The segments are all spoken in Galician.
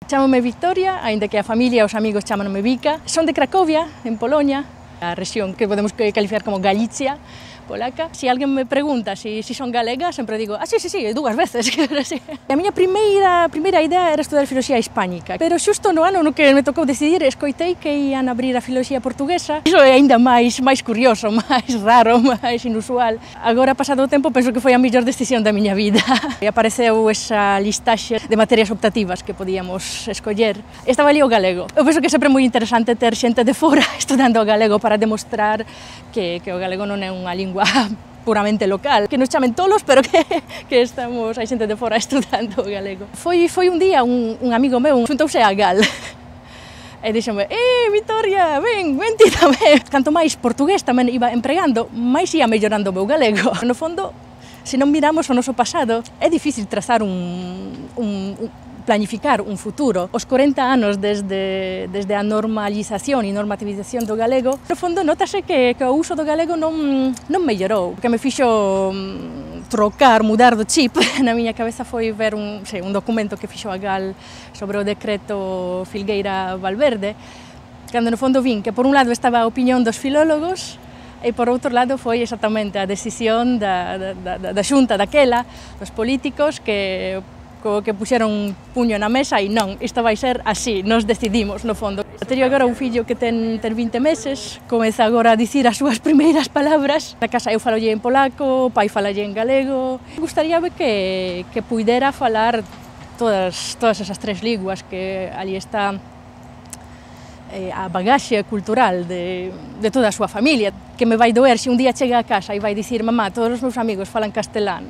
Chámome Victoria, aínda que a familia e os amigos chámanome Vika. Son de Cracovia, en Polonia, a rexión que podemos calificar como Galicia polaca. Se alguén me pregunta se son galega, sempre digo, sí, dúas veces. A miña primeira idea era estudar filoloxía hispánica, pero xusto no ano no que me tocou decidir, escoitei que ian abrir a filoloxía portuguesa. Iso é aínda máis curioso, máis raro, máis inusual. Agora, pasado o tempo, penso que foi a mellor decisión da miña vida. E apareceu esa listaxe de materias optativas que podíamos escoller. Estaba ali o galego. Eu penso que é sempre moi interesante ter xente de fora estudando o galego para demostrar que o galego non é unha lingua puramente local, que nos chamen tolos, pero que estamos, hai xente de fora estudando o galego. Foi un día un amigo meu xuntouse a Gal e dixome, Victoria, ven ti tamén. Canto máis portugués tamén iba empregando, máis ia mellorando o meu galego. No fondo, se non miramos o noso pasado, é difícil trazar planificar un futuro. Os 40 anos desde a normalización e normativización do galego, no fondo, notase que o uso do galego non mellorou. O que me fixo mudar do chip na miña cabeza foi ver un documento que fixo a Gal sobre o decreto Filgueira-Valverde, cando no fondo vin que por un lado estaba a opinión dos filólogos e por outro lado foi exactamente a decisión da xunta daquela, dos políticos que puxeron un puño na mesa e non, isto vai ser así, nos decidimos, no fondo. Teño agora un fillo que ten 20 meses, comeza agora a dicir as súas primeiras palabras. Na casa eu falolle en polaco, o pai falalle en galego. Gustaríame que puidera falar todas esas tres linguas, que ali está a bagaxe cultural de toda a súa familia, que me vai doer se un día chega a casa e vai dicir, mamá, todos os meus amigos falan castelán.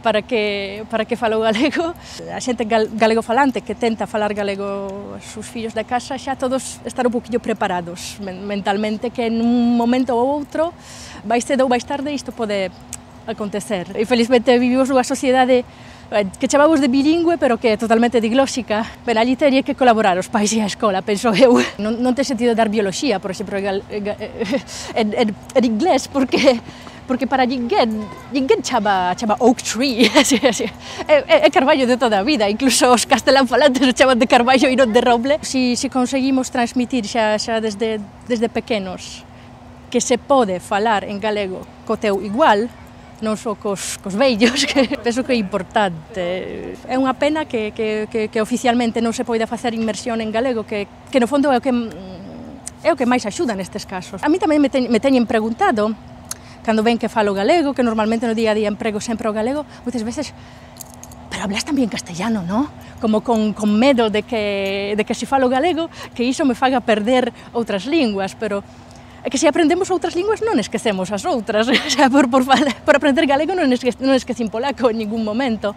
Para que falo galego. A xente galego falante que tenta falar galego aos seus fillos da casa xa todos están un poquinho preparados mentalmente, que en un momento ou outro, máis cedo ou máis tarde, isto pode acontecer. E felizmente vivimos nunha sociedade que chamamos de bilingüe, pero que é totalmente diglóxica. Ben, ali teria que colaborar os pais e a escola, penso eu. Non ten sentido dar bioloxía, por exemplo, en inglés, porque para ninguén chama oak tree, é carballo de toda a vida, incluso os castelán falantes o chaman de carballo e non de roble. Si conseguimos transmitir xa desde pequenos que se pode falar en galego co teu igual, non só cos vellos, que penso que é importante. É unha pena que oficialmente non se poida facer inmersión en galego, que no fondo é o que máis axuda nestes casos. A mí tamén me teñen preguntado, cando ven que falo galego, que normalmente no día a día emprego sempre o galego, moitas veces, pero hablas tamén castellano, non? Como con medo de que se falo galego, que iso me faga perder outras linguas, pero é que se aprendemos outras linguas non esquecemos as outras. Por aprender galego non esquecín polaco en ningún momento.